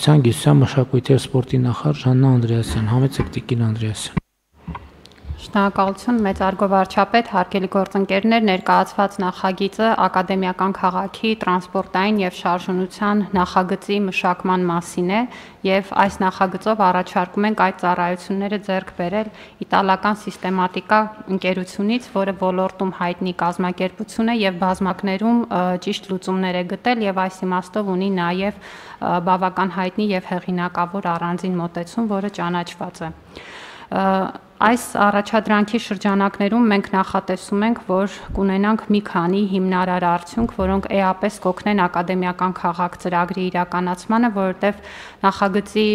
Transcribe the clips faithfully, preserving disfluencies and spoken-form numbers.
տնտեսության, գիտության, մշակույթի և սպորտի նախարար Ժաննա Անդրեասյան, համեցեք Տիկին Անդրեասյան։ Շնորհակալություն, մեծարգո վարչապետ, հարգելի գործընկերներ, ներկայացված նախագիծը ակադեմիական քաղաքի տրանսպորտային և շարժունության նախագծի մշակման մասին է և այս նախագծով առաջարկում ենք այդ ծառայությունները ձեռք բերել իտալական սիստեմատիկա ընկերությունից, որը ոլորտում հայտնի կազմակերպություն է և բազմակներում ճիշտ լուծումներ է գտել և այս իմաստով ունի նաև բավական հայտնի և հեղինակավոր առանձին մոտեցում, որը ճանաչված է։ Այս առաջադրանքի շրջանակներում մենք նախատեսում ենք, որ կունենանք մի քանի հիմնարար արդյունք, որոնք էապես կօգնեն ակադեմիական քաղաք ծրագրի իրականացմանը, որովհետև նախագծի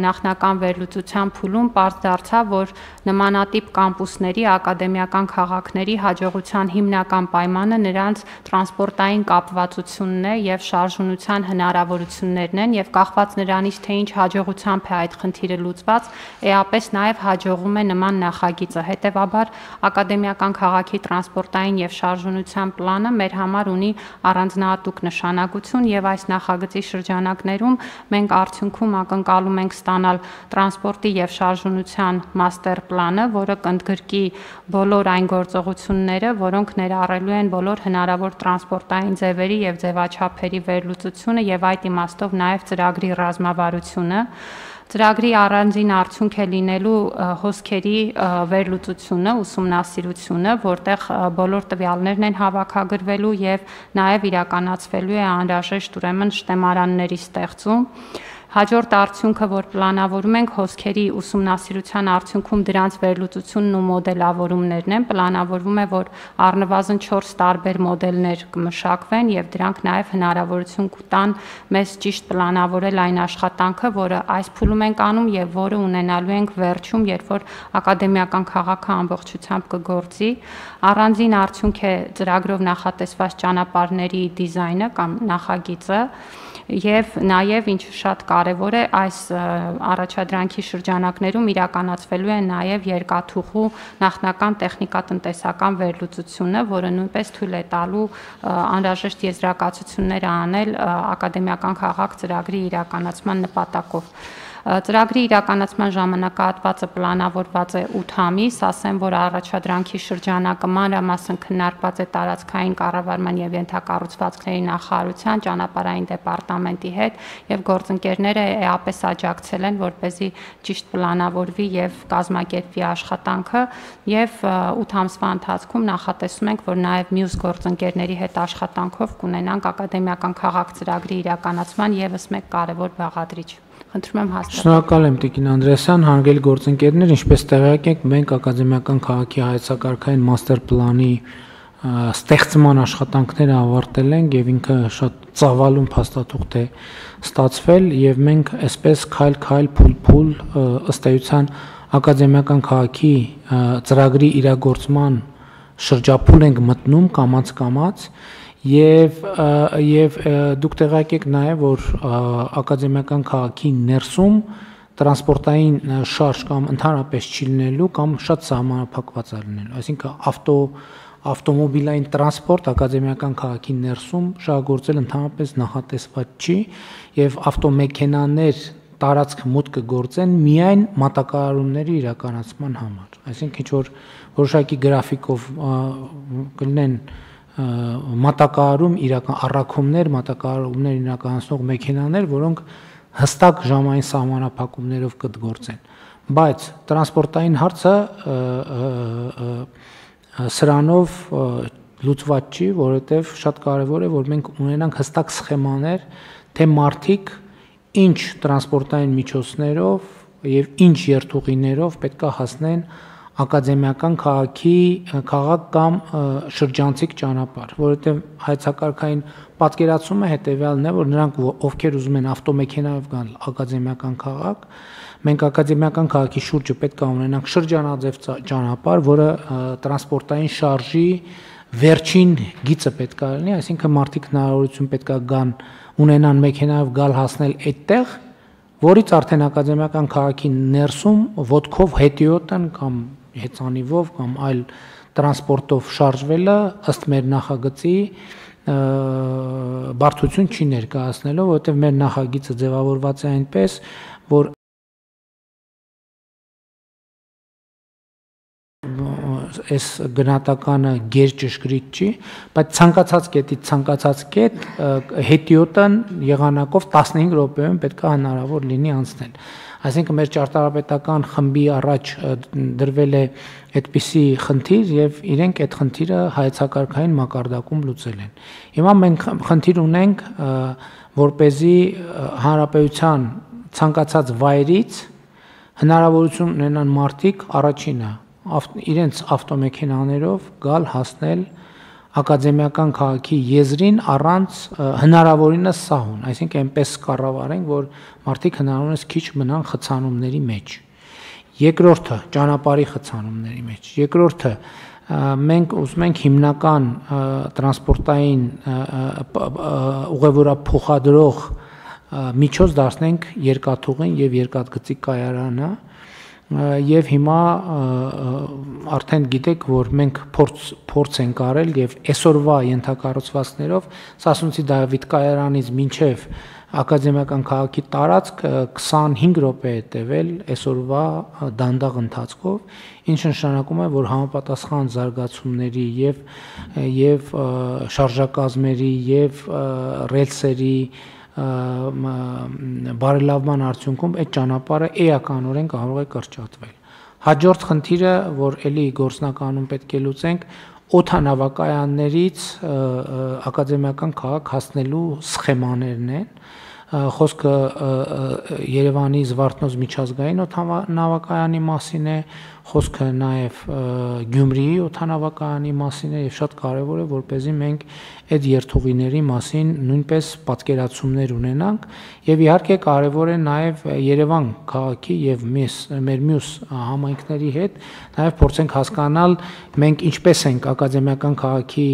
նախնական վերլուծության փուլում պարզ դարձավ, որ նմանատիպ կամպուսների, ակադեմիական քաղաքների հաջողության հիմնական պայմանը նրանց տրանսպորտային կապվածությունն է և շարժունության հնարավորություններն են և կախված նրանից, թե ինչ հաջողությամբ է այդ խնդիրը լուծված, էապես նաև հաջողում է նման նախագիծը, հետևաբար ակադեմիական քաղաքի տրանսպորտային և շարժունության պլանը մեր համար ունի առանձնահատուկ նշանակություն և այս նախագծի շրջանակներում մենք արդյունքում ակնկալում ենք ստանալ տրանսպորտի և շարժունության մաստեր պլանը, որը կընդգրկի բոլոր այն գործողությունները, որոնք ներառելու են բոլոր հնարավոր տրանսպորտային ձևերի և ձևաչափերի վերլուծությունը և այդ իմաստով նաև ծրագրի ռազմավարությունը։ Ծրագրի առանձին արդյունք է լինելու հոսքերի վերլուծությունը, ուսումնասիրությունը, որտեղ բոլոր տվյալներն են հավաքագրվելու և նաև իրականացվելու է անհրաժեշտ ուրեմն շտեմարանների ստեղծում։ Հաջորդ արդյունքը, որ պլանավորում ենք, հոսքերի ուսումնասիրության արդյունքում դրանց վերլուծությունն ու մոդելավորումներն են, պլանավորվում է, որ առնվազն չորս տարբեր մոդելներ կմշակվեն և դրանք նաև հնարավորություն կտան մեզ ճիշտ պլանավորել այն աշխատանքը, որը այս փուլում ենք անում և որը ունենալու ենք վերջում, երբ որ ակադեմիական քաղաքը ամբողջությամբ կգործի։ Առանձին արդյունք է ծրագրով նախատեսված ճանապարհների դիզայնը կամ նախագիծը և նաև, ինչը շատ կարևոր է, այս առաջադրանքի շրջանակներում իրականացվելու է նաև երկաթուղու նախնական տեխնիկատնտեսական վերլուծությունը, որը նույնպես թույլ է տալու անհրաժեշտ եզրակացություններ անել ակադեմիական քաղաք ծրագրի իրականացման նպատակով։ Ծրագրի իրականացման ժամանակահատվածը պլանավորված է ութ ամիս, ասեմ, որ առաջադրանքի շրջանակը մանրամասն քննարկված է տարածքային կառավարման և ենթակառուցվածքների նախարարության, ճանապարհային դեպարտամենտի հետ և գործընկերները էապես աջակցել են, որպեսզի ճիշտ պլանավորվի և կազմակերպվի աշխատանքը և ութ ամսվա ընթացքում նախատեսում ենք, որ նաև մյուս գործընկերների հետ աշխատանքով կունենանք ակադեմիական քաղաք ծրագրի իրականացման ևս մեկ կարևոր բաղադրիչ։ Խնդրում եմ հաստատել։ Շնորհակալ եմ Տիկին Անդրեասյան, հարգելի գործընկերներ, ինչպես տեղյակ եք, մենք ակադեմիական քաղաքի հայեցակարգային մաստեր պլանի ստեղծման աշխատանքները ավարտել ենք և ինքը շատ ծավալուն փաստաթուղթ է ստացվել և մենք այսպես քայլ-քայլ, փուլ-փուլ ըստ էության ակադեմիական քաղաքի ծրագրի իրագործման շրջափուլ ենք մտնում կամաց-կամաց և և դուք տեղյակ եք նաև, որ ակադեմիական քաղաքի ներսում տրանսպորտային շարժ կամ ընդհանրապես չի լինելու կամ շատ սահմանափակված է լինելու, այսինքն ավտո ավտոմոբիլային տրանսպորտ ակադեմիական քաղաքի ներսում շահագործել ընդհանրապես նախատեսված չի և ավտոմեքենաներ տարածք մուտք կգործեն միայն մատակարարումների իրականացման համար, այսինքն ինչ որ որոշակի գրաֆիկով կլինեն մատակարարում իրական առաքումներ, մատակարարումներ իրականացնող մեքենաներ, որոնք հստակ ժամային սահմանափակումներով կգործեն, բայց տրանսպորտային հարցը սրանով լուծված չի, որովհետև շատ կարևոր է, որ մենք ունենանք հստակ սխեմաներ, թե մարդիկ ինչ տրանսպորտային միջոցներով և ինչ երթուղիներով պետք է հասնեն ակադեմիական քաղաքի քաղաք կամ շրջանցիկ ճանապարհ, որովհետև հայեցակարգային պատկերացումը հետևյալն է, որ նրանք, ովքեր ուզում են ավտոմեքենայով գալ ակադեմիական քաղաք, մենք ակադեմիական քաղաքի շուրջը պետք է ունենանք շրջանաձև ճանապարհ, որը տրանսպորտային շարժի վերջին գիծը պետք է լինի, այսինքն մարդիկ հնարավորություն պետք է գան ունենան մեքենայով գալ հասնել այդտեղ, որից արդեն ակադեմիական քաղաքի ներսում ոտքով հետիոտն կամ հեծանիվով կամ այլ տրանսպորտով շարժվելը ըստ մեր նախագծի բարդություն չի ներկայացնելով, որովհետև մեր նախագիծը ձևավորված է այնպես, որ այս գնահատականը գերճշգրիտ չի, բայց ցանկացած կետից ցանկացած կետ հետիոտն եղանակով տասնհինգ րոպեում պետք է հնարավոր լինի անցնել։ Այսինքն մեր ճարտարապետական խմբի առաջ դրվել է այդպիսի խնդիր եւ իրենք այդ խնդիրը հայեցակարգային մակարդակում լուծել են։ Հիմա մենք խնդիր ունենք, որպեսզի հանրապետության ցանկացած վայրից հնարավորություն ունենան մարդիկ առաջինը իրենց ավտոմեքենաներով գալ հասնել ակադեմիական քաղաքի եզրին առանց հնարավորինս սահուն, այսինքն այնպես կառավարենք, որ մարդիկ հնարավորինս քիչ մնան խցանումների մեջ։ Երկրորդը ճանապարհի խցանումների մեջ։ Երկրորդը մենք ուզում ենք հիմնական տրանսպորտային ուղևորափոխադրող միջոց դարձնենք երկաթուղին եւ երկաթգծի կայարանը եւ հիմա արդեն գիտեք, որ մենք փորձ փորձ ենք արել եւ այսօրվա ենթակառուցվածքներով Սասունցի Դավիթ կայարանից մինչեւ ակադեմիական քաղաքի տարածք քսանհինգ րոպե է տևել այսօրվա դանդաղ ընթացքով, ինչը նշանակում է, որ համապատասխան զարգացումների եւ եւ շարժակազմերի եւ ռելսերի բարելավման արդյունքում այդ ճանապարհը էականորեն կարող է կրճատվել։ Հաջորդ խնդիրը, որ էլի գործնականում պետք է լուծենք, օդանավակայաններից ակադեմիական քաղաք հասնելու սխեմաներն են։ Խոսքը Երևանի Զվարթնոց միջազգային օդանավակայանի մասին է, խոսքը նաև Գյումրիի օդանավակայանի մասին է եւ շատ կարեւոր է, որպեսզի մենք այդ երթուղիների մասին նույնպես պատկերացումներ ունենանք եւ իհարկե կարեւոր է նաև Երևան քաղաքի եւ մեր մյուս համայնքների հետ նաև փորձենք հասկանալ մենք ինչպես ենք ակադեմիական քաղաքի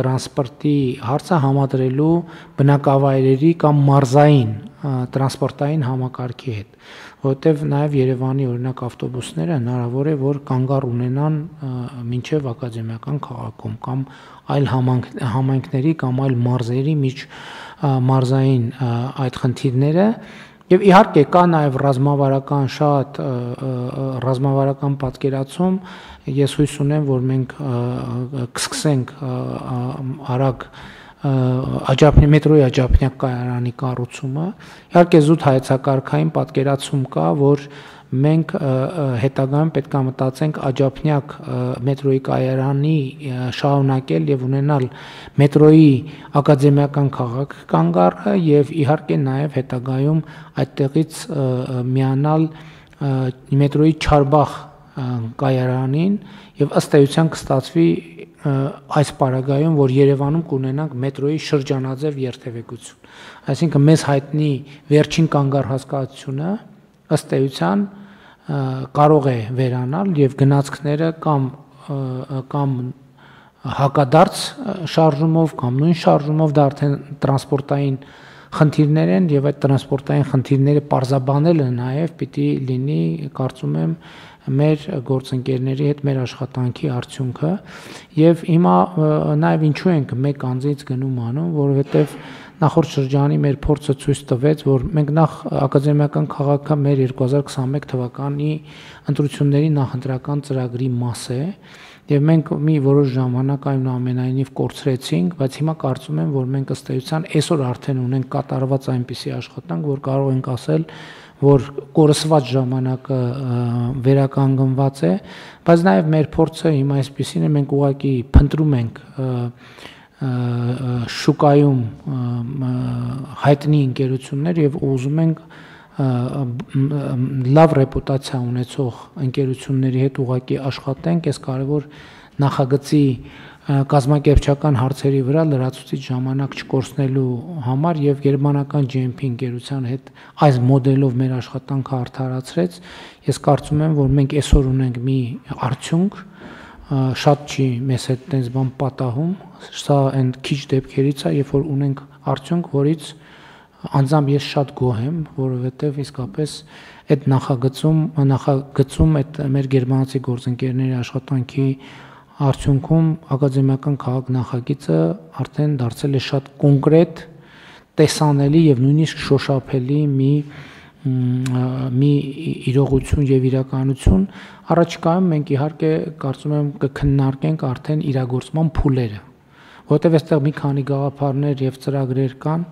տրանսպորտի հարցը համադրելու բնակավայրերի կամ մարզային տրանսպորտային համակարգի հետ, որովհետև նաև Երևանի օրինակ ավտոբուսները հնարավոր է, որ կանգառ ունենան մինչև ակադեմիական քաղաքում կամ այլ համայնքների կամ այլ մարզերի միջ մարզային այդ խնդիրները եւ իհարկե կա նաև ռազմավարական շատ ռազմավարական պատկերացում, ես հույս ունեմ, որ մենք կսկսենք արագ աջափնի մետրոյի աջափնյակ կայարանի կառուցումը, իհարկե զուտ հայեցակարգային պատկերացում կա, որ մենք հետագայում պետք է մտածենք աջափնյակ մետրոյի կայարանի շարունակել եւ ունենալ մետրոյի ակադեմիական քաղաք կանգառը եւ իհարկե նաեւ հետագայում այդտեղից միանալ մետրոյի Չարբախ կայարանին եւ ըստ էության կստացվի այս պարագայում, որ Երևանում կունենանք մետրոյի շրջանաձև երթևեկություն։ Այսինքն մեզ հայտնի վերջին կանգառ հասկացությունը ըստ էության կարող է վերանալ եւ գնացքները կամ կամ հակադարձ շարժումով կամ նույն շարժումով դա արդեն տրանսպորտային խնդիրներ են եւ այդ տրանսպորտային խնդիրները պարզաբանելը նաեւ պիտի լինի, կարծում եմ, մեր գործընկերների հետ մեր աշխատանքի արդյունքը եւ հիմա նաեւ ինչու ենք մեկ անձից գնում անում, որովհետեւ նախորդ շրջանի մեր փորձը ցույց տվեց, որ մենք նախ ակադեմիական քաղաքը մեր երկու հազար քսաներեք թվականի ընտրությունների նախընտրական ծրագրի մաս է եւ մենք մի որոշ ժամանակ այնուամենայնիվ կորցրեցինք, բայց հիմա կարծում եմ, որ մենք ըստ էության այսօր արդեն ունենք կատարված այնպիսի աշխատանք, որ կարող ենք ասել, որ կորսված ժամանակը վերականգնված է, բայց նաև մեր փորձը հիմա այսպեսին է, մենք ուղղակի փնտրում ենք շուկայում հայտնի ընկերություններ եւ ուզում ենք լավ ռեպուտացիա ունեցող ընկերությունների հետ ուղղակի աշխատենք, այս կարևոր նախագծի կազմակերպչական հարցերի վրա լրացուցիչ ժամանակ չկորցնելու համար եւ գերմանական ջի էմ փի ընկերության հետ այս մոդելով մեր աշխատանքը արդարացրեց, ես կարծում եմ, որ մենք այսօր ունենք մի արդյունք, շատ չի մեզ հետ տենց բան պատահում, սա այն քիչ դեպքերից է, երբ որ ունենք արդյունք, որից անձամբ ես շատ գոհ եմ, որովհետեւ իսկապես այդ նախագծում նախագծում այդ մեր գերմանացի գործընկերների աշխատանքի արդյունքում ակադեմիական քաղաք նախագիծը արդեն դարձել է շատ կոնկրետ, տեսանելի եւ նույնիսկ շոշափելի մի մի իրողություն եւ իրականություն։ Առաջիկայում մենք իհարկե կարծում եմ կքննարկենք արդեն իրագործման փուլերը, որտեղ այստեղ մի քանի գաղափարներ եւ ծրագրեր կան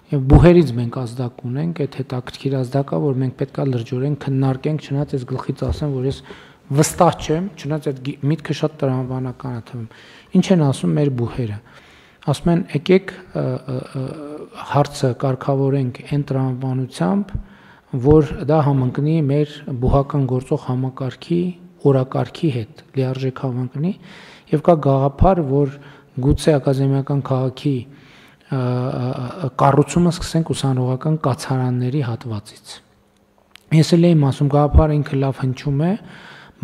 եւ բուհերից մենք ազդակ ունենք, այդ հետաքրքիր ազդակա, որ մենք պետքա լրջորեն քննարկենք, չնայած այս գլխից ասեմ, որ ես վստահ չեմ, չնայած այդ միտքը շատ տրամաբանական է թվում։ Ինչ են ասում մեր բուհերը։ Ասում են, եկեք հարցը կարգավորենք այն տրամաբանությամբ, որ դա համընկնի մեր բուհական գործող համակարգի օրակարգի հետ, լիարժեք համընկնի, եւ կա գաղափար, որ գուցե ակադեմիական քաղաքի կառուցումը սկսենք ուսանողական կացարանների հատվածից։ Ես էլ եմ ասում, գաղափարը ինքը լավ հնչում է,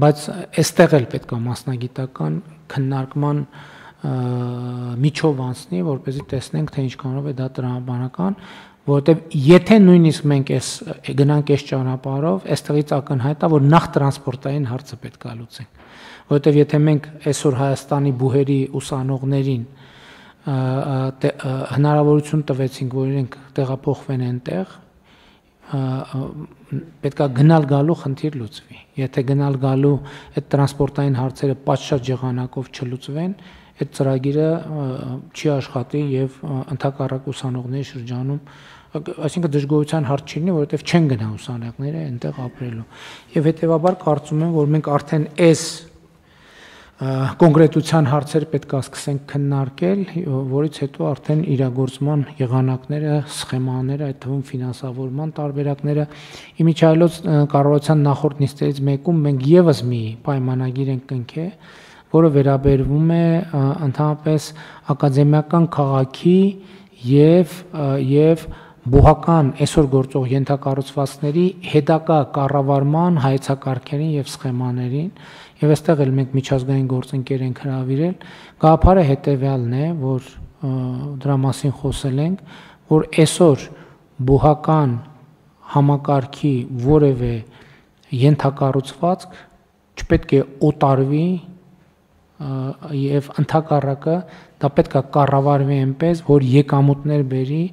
բայց այստեղ էլ պետք է մասնագիտական քննարկման միջով անցնի, որպեսզի տեսնենք, թե ինչքանով է դա տրամաբանական, որովհետև եթե նույնիսկ մենք այս գնանք այս ճանապարհով, այստեղից ակնհայտ է, որ նախ տրանսպորտային հարցը պետք է լուծենք, որովհետև եթե մենք այսօր Հայաստանի բուհերի ուսանողներին հնարավորություն տվեցինք, որ իրենք տեղափոխվեն այնտեղ, պետք է գնալ գալու խնդիր լուծվի։ Եթե գնալ գալու այդ տրանսպորտային հարցերը պատշաճ եղանակով չլուծվեն, այդ ծրագիրը չի աշխատի եւ ընդհակառակ ուսանողների շրջանում, այսինքն դժգոհության հարց չի լինի, որովհետեւ չեն գնա ուսանողները այնտեղ ապրելու։ Եվ հետեւաբար կարծում եմ, որ մենք արդեն այս կոնկրետության հարցեր պետք է սկսենք քննարկել, որից հետո արդեն իրագործման եղանակները, սխեմաները, այդ թվում ֆինանսավորման տարբերակները, իմիջիայլոց կառավարության նախորդ նիստերից մեկում մենք եւս մի պայմանագիր ենք կնքել, որը վերաբերվում է ընդհանրապես ակադեմիական քաղաքի եւ եւ բուհական այսօր գործող ենթակառուցվածքների հետագա կառավարման հայեցակարգերին եւ սխեմաներին, եւ այստեղ էլ մենք միջազգային գործընկեր ենք հրավիրել, գաղափարը հետեւյալն է, որ դրա մասին խոսել ենք, որ այսօր բուհական համակարգի որևէ ենթակառուցվածք չպետք է օտարվի եւ ընդհակառակը դա պետք է կառավարվի այնպես, որ եկամուտներ բերի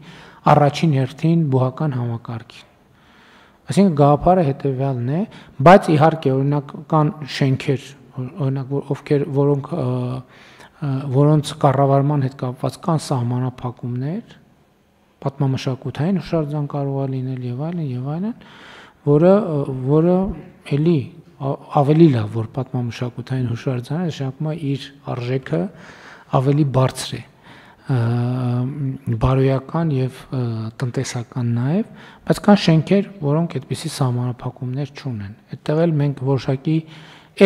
առաջին հերթին բուհական համակարգին։ Այսինքն գաղափարը հետեւյալն է, բայց իհարկե օրինակ կան շենքեր, օրինակ ովքեր որոնք որոնց կառավարման հետ կապված կան սահմանափակումներ, պատմամշակութային հուշարձան կարող է լինել եւ այլն եւ այլն, որը որը էլի ավելի լավ, որ պատմամշակութային հուշարձանը նշանակում է իր արժեքը ավելի բարձր է, բարոյական եւ տնտեսական նաեւ, բայց կան շենքեր, որոնք այդպիսի սահմանափակումներ չունեն։ Այդտեղ էլ մենք որոշակի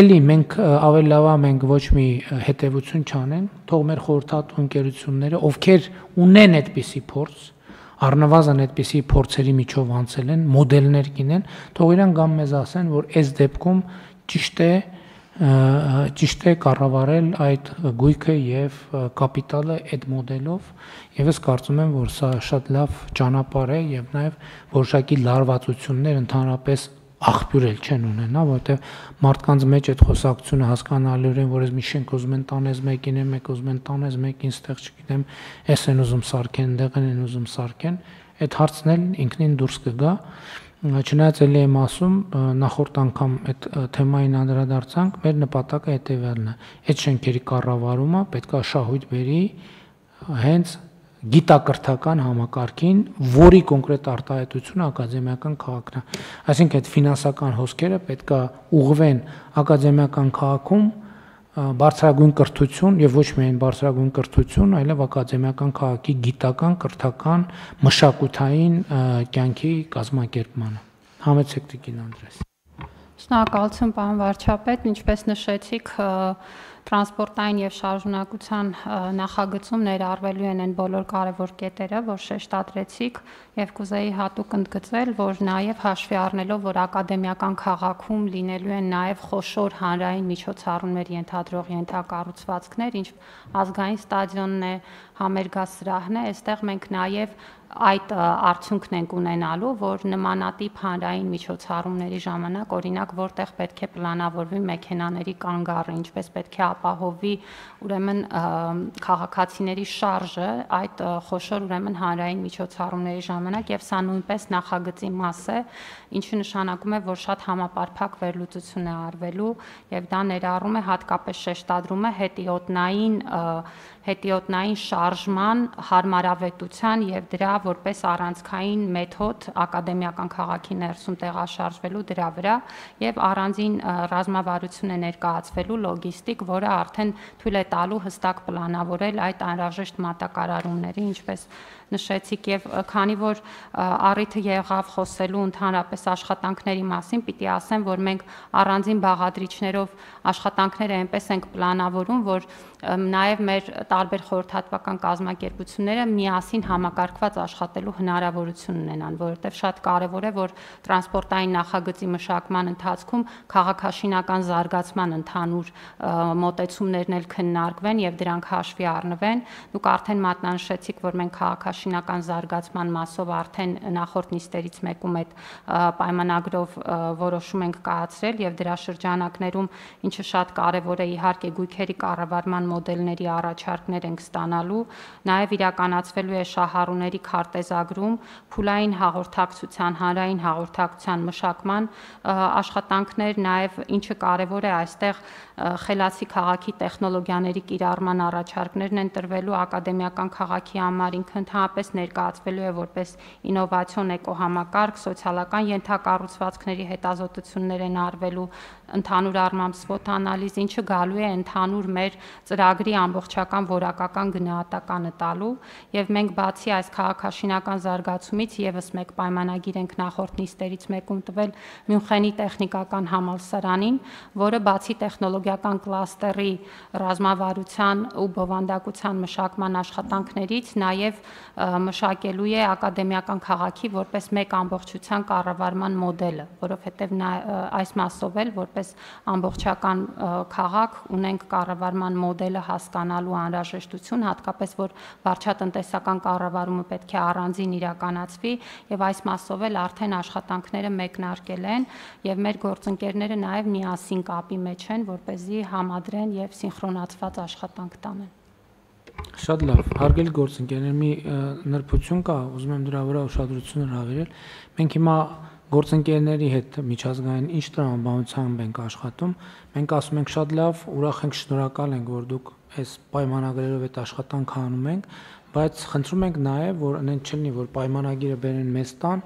էլի մենք ավելի լավ է մենք ոչ մի հետևություն չանենք, թող մեր խորհրդատու ընկերությունները, ովքեր ունեն այդպիսի փորձ, առնվազն այդպիսի փորձերի միջով անցել են, մոդելներ կինեն, թող իրան գամ մեզ ասեն, որ այս դեպքում ճիշտ է ճիշտ է կառավարել այդ գույքը եւ կապիտալը այդ մոդելով, եւ ես կարծում եմ, որ սա շատ լավ ճանապարհ է եւ նաեւ որոշակի լարվածություններ ընդհանրապես աղբյուր էլ չեն ունենա, որովհետեւ մարդկանց մեջ այդ խոսակցությունը հասկանալիորեն, որ ես մի շենք ուզում են տանես մեկին է, մեկ ուզում են տանես մեկին, ստեղ չգիտեմ, էս են ուզում սարքեն, դեղ են ուզում սարքեն, այդ հարցն էլ ինքնին դուրս կգա։ Չնայած էլի եմ ասում, նախորդ անգամ այդ թեմային անդրադարձանք, մեր նպատակը հետևյալն է, այդ շենքերի կառավարումը պետք է շահույթ բերի հենց գիտակրթական համակարգին, որի կոնկրետ արտահայտությունը ակադեմիական քաղաքն է։ Այսինքն այդ ֆինանսական հոսքերը պետք է ուղղվեն ակադեմիական քաղաքում բարձրագույն կրթություն եւ ոչ միայն բարձրագույն կրթություն, այլև ակադեմիական քաղաքի գիտական, կրթական, մշակութային կյանքի կազմակերպմանը։ Համեցեք Տիկին Անդրեաս։ Շնորհակալություն, պարոն վարչապետ, ինչպես նշեցիք, տրանսպորտային եւ շարժունակության նախագծում ներառվելու են այն բոլոր կարևոր կետերը, որ շեշտադրեցիք, եւ կուզեի հատուկ ընդգծել, որ նաեւ հաշվի առնելով, որ ակադեմիական քաղաքում լինելու են նաեւ խոշոր հանրային միջոցառումներ ենթադրող ենթակառուցվածքներ, ինչ ազգային ստադիոնն է, համերգասրահն է, այստեղ մենք նաեւ այդ արդյունքն ենք ունենալու, որ նմանատիպ հանրային միջոցառումների ժամանակ, օրինակ, որտեղ պետք է պլանավորվի մեքենաների կանգառը, ինչպես պետք է ապահովի ուրեմն քաղաքացիների շարժը այդ խոշոր ուրեմն հանրային միջոցառումների ժամանակ եւ սա նույնպես նախագծի մաս է, ինչը նշանակում է, որ շատ համապարփակ վերլուծություն է արվելու եւ դա ներառում է հատկապես շեշտադրում է հետիոտնային հետիոտնային շարժման հարմարավետության եւ դրա որպես առանցքային մեթոդ ակադեմիական քաղաքի ներսում տեղաշարժվելու դրա վրա եւ առանձին ռազմավարություն է ներկայացվելու լոգիստիկ, որը արդեն թույլ է տալու հստակ պլանավորել այդ անհրաժեշտ մատակարարումների, ինչպես նշեցիք եւ քանի որ առիթը եղավ խոսելու ընդհանրապես աշխատանքների մասին, պիտի ասեմ, որ մենք առանձին բաղադրիչներով աշխատանքները այնպես ենք պլանավորում, որ նաեւ մեր տարբեր խորհրդատվական կազմակերպությունները միասին համակարգված աշխատելու հնարավորություն ունենան, որովհետեւ շատ կարեւոր է, որ տրանսպորտային նախագծի մշակման ընթացքում քաղաքաշինական զարգացման ընդհանուր մոտեցումներն էլ քննարկվեն եւ դրանք հաշվի առնվեն։ Դուք արդեն մատնանշեցիք, որ մենք քաղաքաշինական զարգացման մասով արդեն նախորդ նիստերից մեկում այդ պայմանագրով որոշում ենք կայացրել եւ դրա շրջանակներում, ինչը շատ կարեւոր է, իհարկե գույքերի կառավարման մոդելների առաջարկներ ենք ստանալու, նաեւ իրականացվելու է շահառուների քարտեզագրում, փուլային հաղորդակցության, հանրային հաղորդակցության մշակման աշխատանքներ, նաեւ ինչը կարեւոր է այստեղ խելացի քաղաքի տեխնոլոգիաների կիրառման առաջարկներն են տրվելու ակադեմիական քաղաքի համար, ինքը ընդհանրապես ներկայացվելու է որպես ինովացիոն էկոհամակարգ, սոցիալական ենթակառուցվածքների հետազոտություններ են արվելու, ընդհանուր առմամբ SWOT անալիզ, ինչը գալու է ընդհանուր մեր ծրագրի ամբողջական որակական գնահատականը տալու եւ մենք բացի այս քաղաքաշինական զարգացումից եւս մեկ պայմանագիր ենք նախորդ նիստերից մեկում տվել Մյունխենի տեխնիկական համալսարանին, որը բացի տեխնոլոգիական կլաստերի ռազմավարության ու բովանդակության մշակման աշխատանքներից նաեւ մշակելու է ակադեմիական քաղաքի որպես մեկ ամբողջության կառավարման մոդելը, որովհետեւ այս մասով էլ որպես ամբողջական քաղաք ունենք կառավարման մոդելը հասկանալու անհրաժեշտություն, հատկապես որ վարչատնտեսական կառավարումը պետք է առանձին իրականացվի եւ այս մասով էլ արդեն աշխատանքները մեկնարկել են եւ մեր գործընկերները նաեւ միասին կապի մեջ են, որպեսզի համադրեն եւ սինխրոնացված աշխատանք տանեն։ Շատ լավ, հարգելի գործընկերներ, մի նրբություն կա, ուզում եմ դրա վրա ուշադրություն հրավիրել։ Մենք հիմա գործընկերների հետ միջազգային ինչ տրամաբանությամբ ենք աշխատում, մենք ասում ենք շատ լավ, ուրախ ենք, շնորհակալ ենք, որ դուք այս պայմանագրերով այդ աշխատանքը անում եք, բայց խնդրում ենք նաև, որ այնց չլինի, որ պայմանագիրը բերեն մեզ տան,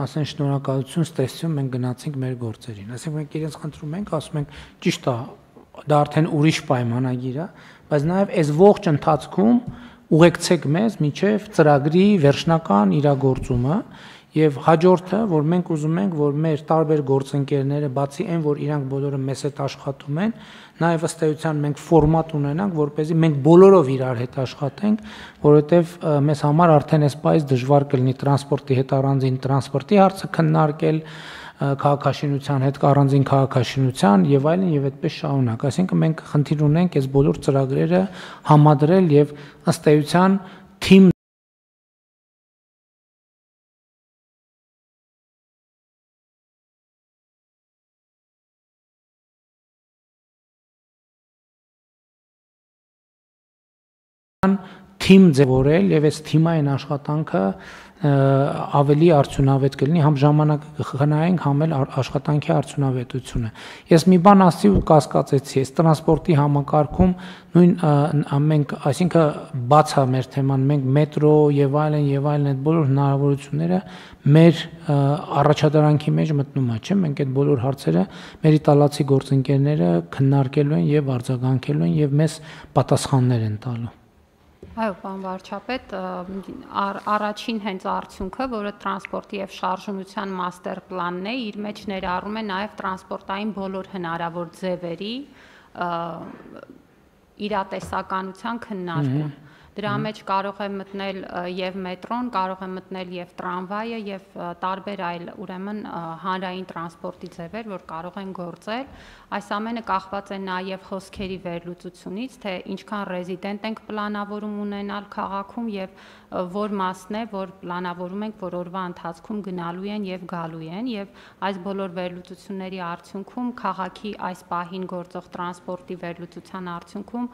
ասեն շնորհակալություն, ստեսություն, մենք գնացինք մեր գործերին։ Այսինքն մենք իրենց խնդրում ենք, ասում ենք, ճիշտ է, դա արդեն ուրիշ պայմանագիր է, բայց նաև այս ողջ ընթացքում ուղեկցեք մեզ մինչև ծրագրի վերջնական իրագործումը եւ հաջորդը, որ մենք ուզում ենք, որ մեր տարբեր գործընկերները, բացի այն, որ իրանք բոլորը մեզ հետ աշխատում են, նաեւ ըստ էության մենք ֆորմատ ունենանք, որպեսզի մենք բոլորով իրար հետ աշխատենք, որովհետեւ մեզ համար արդեն այսպես դժվար կլինի տրանսպորտի հետ առանձին տրանսպորտի հարցը քննարկել, քաղաքաշինության հետ առանձին քաղաքաշինության եւ այլն եւ այդպես շարունակ։ Այսինքն մենք խնդիր ունենք այս բոլոր ծրագրերը համադրել եւ ըստ էության թիմ թիմ ձևորել եւ այս թիմային աշխատանքը ավելի արդյունավետ կլինի, համ ժամանակը կխնայենք, համ էլ աշխատանքի արդյունավետությունը։ Ես մի բան ասացի ու կասկածեցի, այս տրանսպորտի համակարգում նույն մենք, այսինքն բաց է մեր թեման, մենք մետրո եւ այլն եւ այլն այդ բոլոր հնարավորությունները մեր առաջադրանքի մեջ մտնում է, չէ՞, մենք այդ բոլոր հարցերը մեր իտալացի գործընկերները քննարկելու են եւ արձագանքելու են եւ մեզ պատասխաններ են տալու։ Այո, պարոն վարչապետ, առաջին հենց արդյունքը, որը տրանսպորտի եւ շարժունության մաստեր պլանն է, իր մեջ ներառում է նաեւ տրանսպորտային բոլոր հնարավոր ձևերի իրատեսականության քննարկում։ Դրա մեջ կարող է մտնել եւ մետրոն, կարող է մտնել եւ տրամվայը եւ տարբեր այլ ուրեմն հանրային տրանսպորտի ձևեր, որ կարող են գործել։ Այս ամենը կախված է նաեւ խոսքերի վերլուծությունից, թե ինչքան ռեզիդենտ ենք պլանավորում ունենալ քաղաքում եւ որ մասն է, որ պլանավորում ենք, որ օրվա ընթացքում գնալու են եւ գալու են եւ այս բոլոր վերլուծությունների արդյունքում քաղաքի այս պահին գործող տրանսպորտի վերլուծության արդյունքում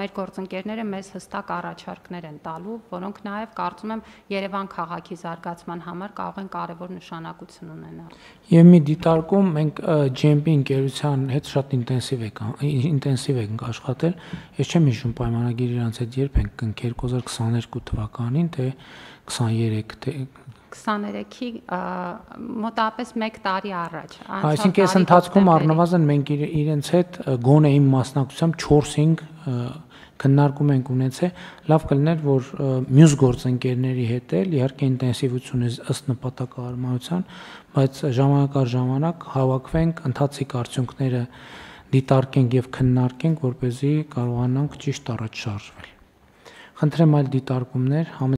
մեր գործընկերները մեզ հստակ առաջարկներ են տալու, որոնք նաեւ կարծում եմ Երևան քաղաքի զարգացման համար կարող են կարևոր նշանակություն ունենալ։ Եվ մի դիտարկում մենք ջի էմ պի ընկերության հետ շատ ինտենսիվ ենք ինտենսիվ ենք աշխատել։ Ես չեմ հիշում պայմանագիր իրանց հետ երբ ենք կնքել երկու հազար քսաներկու թվականին, թե քսաներեք թե քսաներեքի մոտավորապես մեկ տարի առաջ։ Այսինքն այս ընթացքում առնվազն մենք իրենց հետ գոնե իմ մասնակցությամբ չորս-հինգ քննարկում ենք ունեցել, լավ կլիներ, որ մյուս գործընկերների հետ էլ իհարկե ինտենսիվությունը ըստ նպատակահարմարության, բայց ժամանակ առ ժամանակ հավաքվենք, ընթացիկ արդյունքները դիտարկենք եւ քննարկենք, որպեսզի կարողանանք ճիշտ առաջ շարժվել։ Խնդրեմ այլ դիտարկումներ